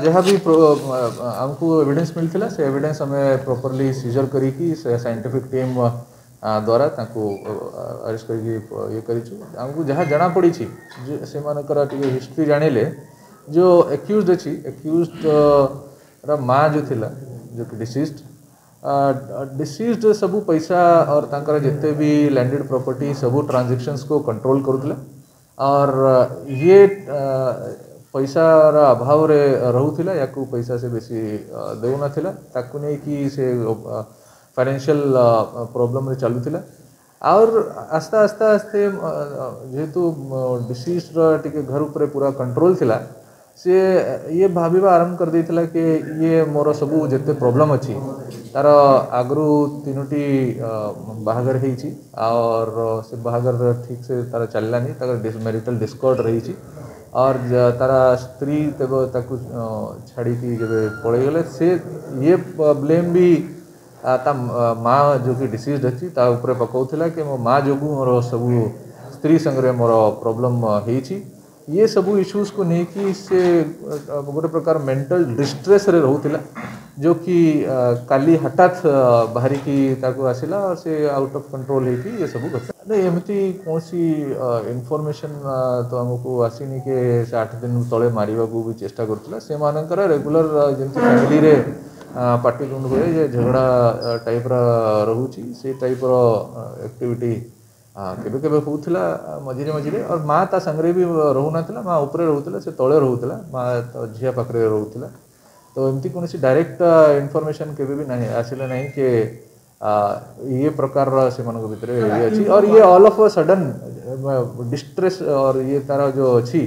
ଯାହା ବି ଆମକୁ ଏଭିଡେନ୍ସ ମିଳିଥିଲା, ସେ ଏଭିଡେନ୍ସ ଆମେ ପ୍ରପରଲି ସିଜର କରିକି ସେ ସାଇଣ୍ଟିଫିକ୍ ଟିମ୍ ଦ୍ୱାରା ତାଙ୍କୁ ଆରେଷ୍ଟ କରିକି ଇଏ କରିଛୁ। ଆମକୁ ଯାହା ଜଣାପଡ଼ିଛି ଯେ ସେମାନଙ୍କର ଟିକେ ହିଷ୍ଟ୍ରି ଜାଣିଲେ, ଯେଉଁ ଏକ୍ୟୁଜ୍ଡ ଅଛି, ଏକ୍ୟୁଜ୍ଡର ମା ଯେଉଁ ଥିଲା, ଯେଉଁ କି ଡିସିଜ୍ଡ ସବୁ ପଇସା और ତାଙ୍କର ଯେତେ ବି ଲ୍ୟାଣ୍ଡେଡ୍ ପ୍ରପର୍ଟି ସବୁ ଟ୍ରାଞ୍ଜାକ୍ସନ୍ସକୁ କଣ୍ଟ୍ରୋଲ କରୁଥିଲା और ଇଏ ପଇସାର ଅଭାବରେ ରହୁଥିଲା। ୟାକୁ ପଇସା ସେ ବେଶୀ ଦେଉନଥିଲା, ତାକୁ ନେଇକି ସେ ଫାଇନାନ୍ସିଆଲ ପ୍ରୋବ୍ଲେମରେ ଚାଲୁଥିଲା। और ଆସ୍ତେ ଆସ୍ତେ ଆସ୍ତେ ଯେହେତୁ ଡିସିଜ୍ଡର ଟିକେ ଘର ଉପରେ ପୁରା କଣ୍ଟ୍ରୋଲ ଥିଲା, ସିଏ ଇଏ ଭାବିବା ଆରମ୍ଭ କରିଦେଇଥିଲା କି ଇଏ ମୋର ସବୁ ଯେତେ ପ୍ରୋବ୍ଲେମ୍ ଅଛି। ତାର ଆଗରୁ 3ଟି ବାହାଘର ହେଇଛି और ସେ ବାହାଘର ଠିକ୍ ସେ ତାର ଚାଲିଲାନି, ତାର ମ୍ୟାରିଟାଲ ଡିସ୍କର୍ଡ ରହିଛି और ତାର ସ୍ତ୍ରୀ ତେବେ ତାକୁ ଛାଡ଼ିକି ଯେବେ ପଳେଇଗଲେ, ସେ ଇଏ ବ୍ଲେମ୍ ବି ତା ମା ଯେଉଁ କି ଡିସିଜ୍ଡ ଅଛି ତା ଉପରେ ପକାଉଥିଲା କି ମୋ ମା ଯୋଗୁଁ ମୋର ସବୁ ସ୍ତ୍ରୀ ସାଙ୍ଗରେ ମୋର ପ୍ରୋବ୍ଲେମ୍ ହେଇଛି। ଇଏ ସବୁ ଇସ୍ୟୁଜକୁ ନେଇକି ସେ ଗୋଟେ ପ୍ରକାର ମେଣ୍ଟାଲ ଡିଷ୍ଟ୍ରେସ୍ରେ ରହୁଥିଲା, ଯେଉଁ କି କାଲି ହଠାତ୍ ବାହାରିକି ତାକୁ ଆସିଲା, ସେ ଆଉଟ୍ ଅଫ୍ କଣ୍ଟ୍ରୋଲ ହେଇକି ଏ ସବୁ ଘଟିଲା। ନାଇଁ, ଏମିତି କୌଣସି ଇନଫର୍ମେସନ୍ ତ ଆମକୁ ଆସିନି କି ସେ 8 ଦିନ ତଳେ ମାରିବାକୁ ବି ଚେଷ୍ଟା କରୁଥିଲା। ସେମାନଙ୍କର ରେଗୁଲାର ଯେମିତି ଫ୍ୟାମିଲିରେ ପାଟିତୁଣ୍ଡ ହୁଏ, ଯେ ଝଗଡ଼ା ଟାଇପ୍ର ରହୁଛି, ସେ ଟାଇପ୍ର ଆକ୍ଟିଭିଟି କେବେ କେବେ ହେଉଥିଲା ମଝିରେ ମଝିରେ। और ମା ତା ସାଙ୍ଗରେ ବି ରହୁନଥିଲା, ମା ଉପରେ ରହୁଥିଲା, ସେ ତଳେ ରହୁଥିଲା, ମା ଝିଅ ପାଖରେ ରହୁଥିଲା। ତ ଏମିତି କୌଣସି ଡାଇରେକ୍ଟ ଇନଫର୍ମେସନ୍ କେବେ ବି ନାହିଁ ଆସିଲା ନାହିଁ କି ଇଏ ପ୍ରକାରର ସେମାନଙ୍କ ଭିତରେ ଇଏ ଅଛି। और ଇଏ ଅଲ୍ ଅଫ୍ ଅ ସଡନ୍ ଡିଷ୍ଟ୍ରେସ୍ और ଇଏ ତାର ଯେଉଁ ଅଛି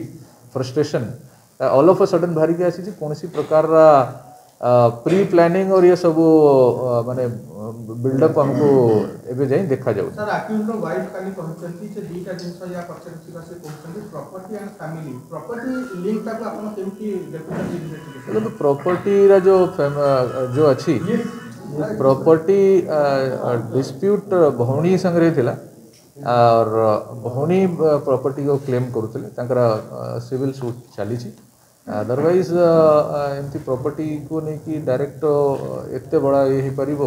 ଫ୍ରଷ୍ଟ୍ରେସନ୍ ଅଲ୍ ଅଫ୍ ଅ ସଡନ୍ ବାହାରିକି ଆସିଛି। କୌଣସି ପ୍ରକାରର ପ୍ରି ପ୍ଲାନିଂ और ଇଏ ସବୁ ମାନେ ବିଲ୍ଡଅପ୍ ଆମକୁ ଏବେ ଯାଇ ଦେଖାଯାଉନି। ସାର୍, ଆକ୍ୟୁଜ୍ଡର ୱାଇଫ୍ କାଲି କହିଛନ୍ତି ଯେ 2ଟା ଜିନିଷ ୟା ପଛରେ ଥିବା ସେ କହୁଛନ୍ତି, ପ୍ରପର୍ଟି ଆଣ୍ଡ ଫ୍ୟାମିଲି। ପ୍ରପର୍ଟି ଲିଙ୍କଟାକୁ ଆପଣ କେମିତି ଦେଖୁଛନ୍ତି ଇନଭେଷ୍ଟିଗେସନ? ଦେଖନ୍ତୁ, ପ୍ରପର୍ଟିର ଯେଉଁ ଅଛି, ପ୍ରପର୍ଟି ଡିସ୍ପ୍ୟୁଟ୍ ଭଉଣୀ ସାଙ୍ଗରେ ଥିଲା और ଭଉଣୀ ପ୍ରପର୍ଟିକୁ କ୍ଲେମ୍ କରୁଥିଲେ, ତାଙ୍କର ସିଭିଲ୍ ସୁଟ୍ ଚାଲିଛି। ଅଦରୱାଇଜ୍ ଏମିତି ପ୍ରପର୍ଟିକୁ ନେଇକି ଡାଇରେକ୍ଟ ଏତେ ବଡ଼ ଇଏ ହେଇପାରିବ,